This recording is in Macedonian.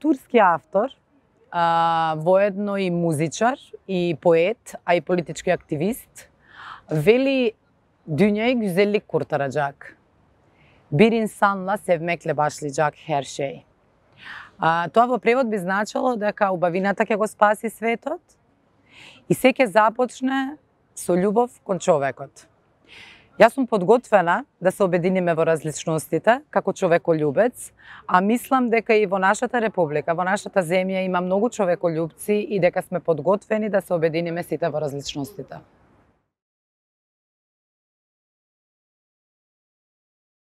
турски автор, воедно и музичар, и поет, а и политички активист, вели dünyayı güzellik kurtaracak. Bir insanla sevmekle başlayacak her şey. Тоа во превод би значило дека убавината ќе го спаси светот и се ќе започне со љубов кон човекот. Јас сум подготвена да се обединиме во различностите како човеколюбец, а мислам дека и во нашата република, во нашата земја има многу човеколюбци и дека сме подготвени да се обединиме сите во различностите.